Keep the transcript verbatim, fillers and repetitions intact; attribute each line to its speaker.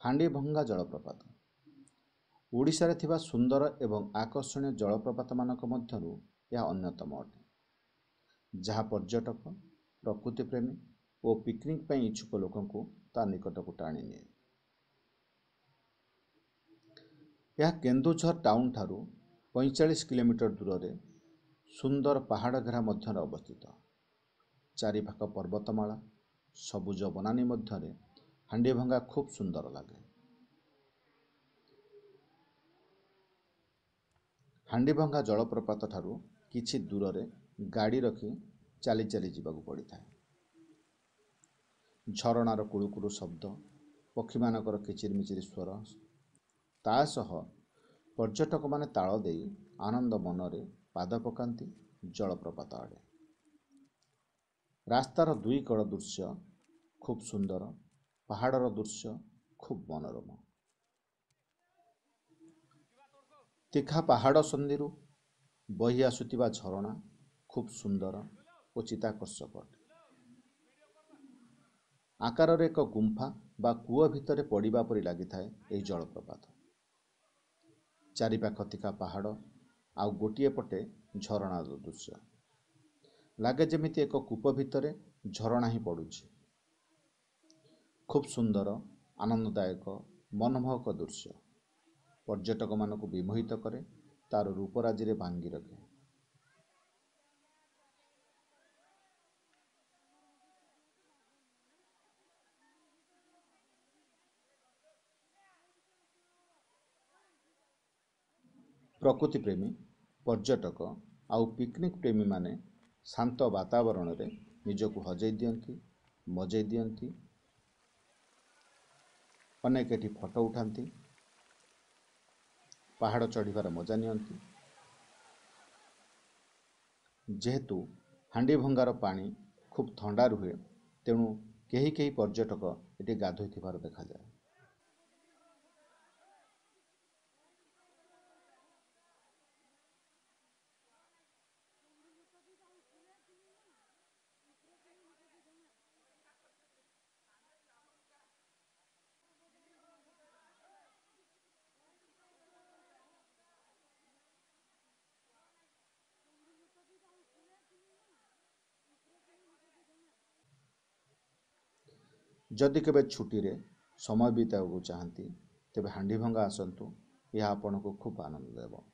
Speaker 1: ହାଣ୍ଡିଭଙ୍ଗା ଜଳପ୍ରପାତ ଓଡ଼ିଶାରେ ଥିବା ସୁନ୍ଦର ଏବଂ ଆକର୍ଷଣୀୟ ଜଳପ୍ରପାତମାନଙ୍କ ମଧ୍ୟରୁ ଏହା ଅନ୍ୟତମ ଅଟେ, ଯାହା ପର୍ଯ୍ୟଟକ, ପ୍ରକୃତିପ୍ରେମୀ ଓ ପିକନିକ୍ ପାଇଁ ଇଚ୍ଛୁକ ଲୋକଙ୍କୁ ତା ନିକଟକୁ ଟାଣି ନିଏ। ଏହା କେନ୍ଦୁଝର ଟାଉନ୍ ଠାରୁ ପଇଁଚାଳିଶ କିଲୋମିଟର ଦୂରରେ ସୁନ୍ଦର ପାହାଡ଼ ଘେରା ମଧ୍ୟରେ ଅବସ୍ଥିତ। ଚାରିପାଖ ପର୍ବତମାଳା, ସବୁଜ ବନାନୀ ମଧ୍ୟରେ ହାଣ୍ଡିଭଙ୍ଗା ଖୁବ୍ ସୁନ୍ଦର ଲାଗେ। ହାଣ୍ଡିଭଙ୍ଗା ଜଳପ୍ରପାତ ଠାରୁ କିଛି ଦୂରରେ ଗାଡ଼ି ରଖି ଚାଲି ଚାଲି ଯିବାକୁ ପଡ଼ିଥାଏ। ଝରଣାର କୁଳୁକୁଳୁ ଶବ୍ଦ, ପକ୍ଷୀମାନଙ୍କର କିଚିରିମିଚିରି ସ୍ୱର, ତା ସହ ପର୍ଯ୍ୟଟକମାନେ ତାଳ ଦେଇ ଆନନ୍ଦ ମନରେ ପାଦ ପକାନ୍ତି ଜଳପ୍ରପାତ ଆଡ଼େ। ରାସ୍ତାର ଦୁଇ କଡ଼ ଦୃଶ୍ୟ ଖୁବ୍ ସୁନ୍ଦର, ପାହାଡ଼ର ଦୃଶ୍ୟ ଖୁବ୍ ମନୋରମ। ତୀଖା ପାହାଡ଼ ସନ୍ଧିରୁ ବହି ଆସୁଥିବା ଝରଣା ଖୁବ୍ ସୁନ୍ଦର ଓ ଚିତ୍ତାକର୍ଷକ ଅଟେ। ଆକାରରେ ଏକ ଗୁମ୍ଫା ବା କୂଅ ଭିତରେ ପଡ଼ିବା ପରି ଲାଗିଥାଏ ଏହି ଜଳପ୍ରପାତ। ଚାରିପାଖ ତୀଖା ପାହାଡ଼ ଆଉ ଗୋଟିଏ ପଟେ ଝରଣାର ଦୃଶ୍ୟ, ଲାଗେ ଯେମିତି ଏକ କୂପ ଭିତରେ ଝରଣା ହିଁ ପଡ଼ୁଛି। ଖୁବ୍ ସୁନ୍ଦର, ଆନନ୍ଦଦାୟକ, ମନମୋହକ ଦୃଶ୍ୟ ପର୍ଯ୍ୟଟକମାନଙ୍କୁ ବିମୋହିତ କରେ, ତାର ରୂପରାଜିରେ ଭାଙ୍ଗି ରଖେ। ପ୍ରକୃତିପ୍ରେମୀ, ପର୍ଯ୍ୟଟକ ଆଉ ପିକନିକ୍ ପ୍ରେମୀମାନେ ଶାନ୍ତ ବାତାବରଣରେ ନିଜକୁ ହଜେଇ ଦିଅନ୍ତି, ମଜେଇ ଦିଅନ୍ତି। ଅନେକ ଏଠି ଫଟୋ ଉଠାନ୍ତି, ପାହାଡ଼ ଚଢ଼ିବାର ମଜା ନିଅନ୍ତି। ଯେହେତୁ ହାଣ୍ଡିଭଙ୍ଗାର ପାଣି ଖୁବ୍ ଥଣ୍ଡା ରୁହେ, ତେଣୁ କେହି କେହି ପର୍ଯ୍ୟଟକ ଏଠି ଗାଧୋଇଥିବାର ଦେଖାଯାଏ। ଯଦି କେବେ ଛୁଟିରେ ସମୟ ବିତାଇବାକୁ ଚାହାନ୍ତି, ତେବେ ହାଣ୍ଡିଭଙ୍ଗା ଆସନ୍ତୁ, ଏହା ଆପଣଙ୍କୁ ଖୁବ୍ ଆନନ୍ଦ ଦେବ।